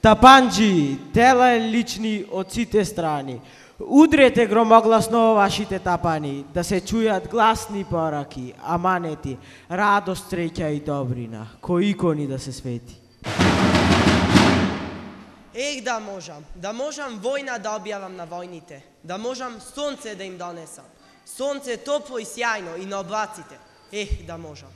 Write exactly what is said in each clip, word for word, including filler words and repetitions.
Тапанџи, тела лични од сите страни. Удрете громогласно во вашите тапани, да се чујат гласни пораки, аманети, радост, среќа и добрина, кои икони да се свети. Ех, да можам, да можам војна да објавам на војните, да можам сонце да им донесам. Сонце топло и сјајно и на облаците. Ех, да можам.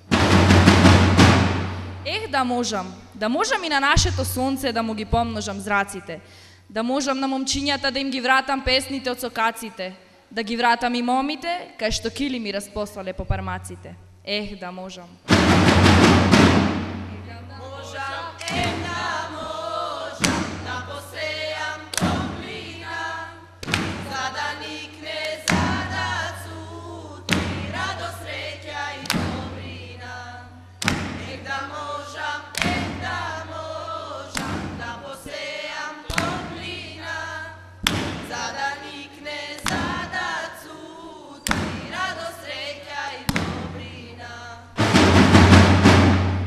Ех, да можам, да можам и на нашето сонце да му ги помножам зраците, да можам на момчињата да им ги вратам песните од сокаците, да ги вратам и момите, кај што кили ми распослале по пармаците. Ех, да можам. Можам, ех, да можам, да посејам топлина, за да никне, за да цути, радост, среќа и добрина. Ех, да можам, ех, да можам, да посејам топлина, за да никне, за да цути, радост, среќа и добрина.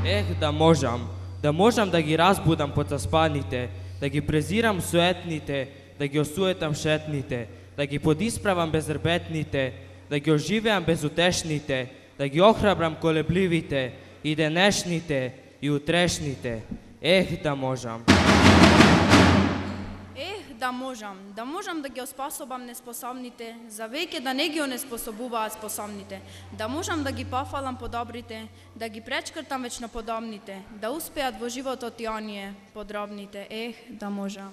Ех, да можам, да можам да ги разбудам подзаспаните, да ги презирам суетните, да ги осуетам шетните, да ги подисправам безрбетните, да ги оживеам безутешните, да ги охрабрам колебливите, и денешните, и утрешните. Ех, да можам. Ех, да можам, да можам да ги оспособам неспособните, за веќе да не ги онеспособуваат способните, да можам да ги пофалам подобрите, да ги пречкртам вечно подобните, да успеат во животот и оние подробните. Ех, да можам.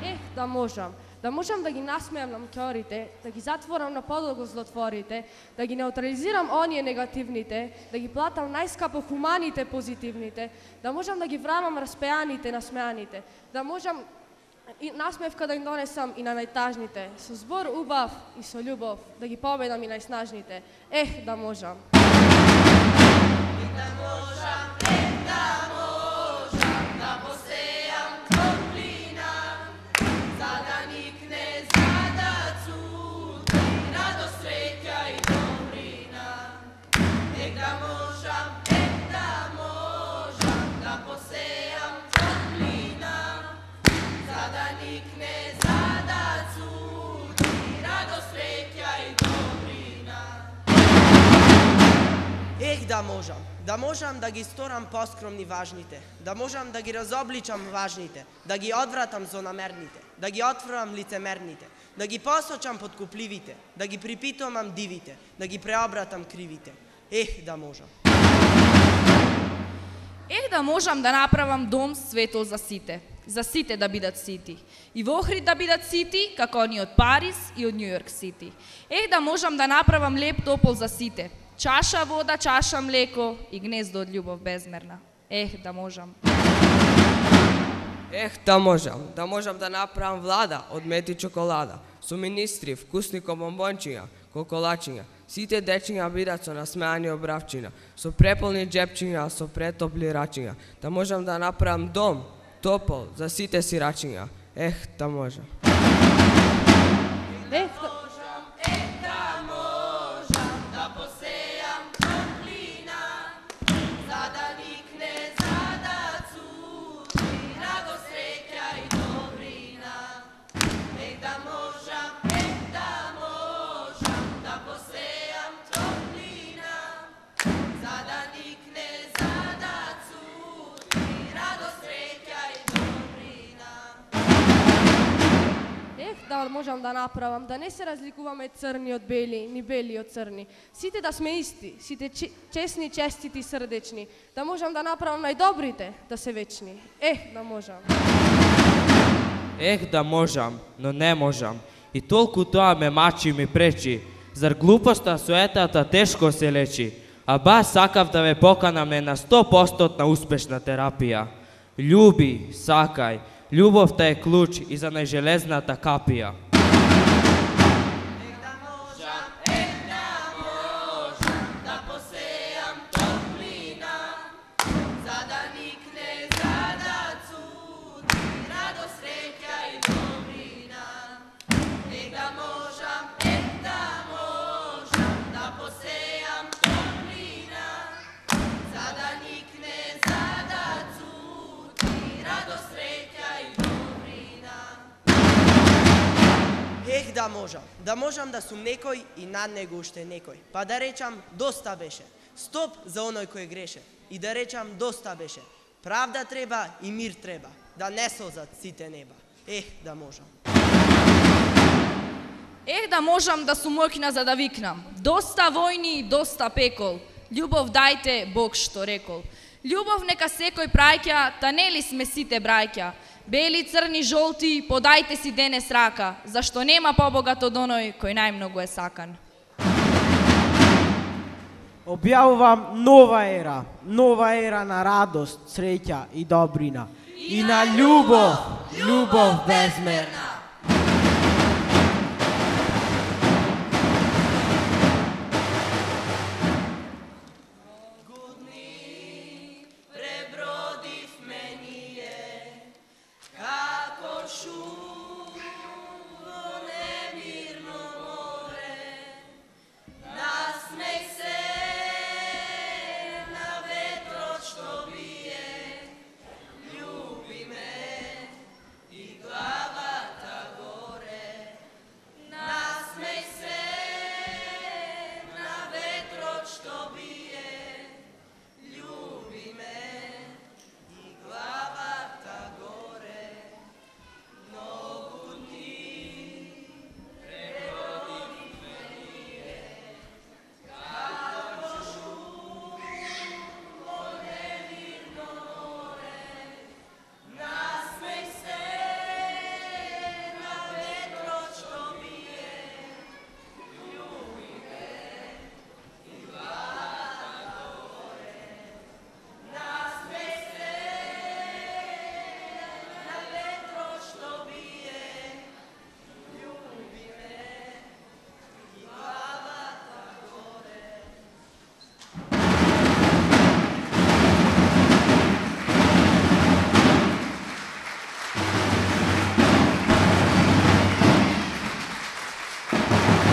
Ех, да можам, да можам да ги насмеам на моторите, да ги затворам на подолго злотворите, да ги неутрализирам оние негативните, да ги платам најскапо хуманите позитивните, да можам да ги врамам распеаните насмеаните, да можам и насмевка да им донесам и на најтажните, со збор убав и со љубов, да ги победам и најснажните. Ех, да можам. Ех, да можам, ех, да можам, да посејам топлина, за да никне, за да цути, радост, среќа и добрина. Ех, да можам, ех, да можам, да посејам топлина, за да никне, за да цути, радост, среќа и добрина. Ех, да можам, да можам да ги сторам поскромни важните, да можам да ги разобличам важните, да ги одвратам злонамерните, да ги отворам лицемерните, да ги посочам подкупливите, да ги припитувам дивите, да ги преобратам кривите. Ех, да можам. Ех, да можам да направам дом светол за сите, за сите да бидат сити, и во Охрид да бидат сити, како они од Париз и од Њујорк сити. Ех, да можам да направам леп топол за сите, чаша вода, чаша млеко и гнездо од љубов безмерна. Ех, да можам. Ех, да можам, да можам да направам влада од мед и чоколада, со министри, вкусни бомбончиња, коколачиња, сите дечиња бидат со насмеани обравчиња, со преполни джепчиња, со претопли рачиња, да можам да направам дом, топол, за сите сирачиња. Ех, да можам. Ех, да... Да посејам топлина, за да никне, за да Ех, да можам да направам, да не се разликуваме црни од бели, ни бели од црни. Сите да сме исти, сите честни, честити, срдечни. Да можам да направам најдобрите, да се вечни. Ех, да можам. Ех, да можам, но не можам. И толку тоа ме мачи и ми пречи. Зар глупоста, суетата тешко се лечи? А баш сакав да ве поканам на сто проценти успешна терапија. Љуби, сакај, љубовта е клуч и за најжелезната капија. Ех, да можам. Да можам да сум некој и над него уште некој. Па да речам, доста беше. Стоп за оној кој греше. И да речам, доста беше. Правда треба и мир треба. Да не созат сите неба. Ех, да можам. Ех, да можам да сум мојкна за да викнам. Доста војни, доста пекол. Љубов дајте, Бог што рекол. Љубов нека секој праќа, та нели сме сите браќа. Бели, црни, жолти, подајте си денес рака, зашто нема побогат од оној кој најмногу е сакан. Објавувам нова ера, нова ера на радост, среќа и добрина. И на љубов, љубов безмерна.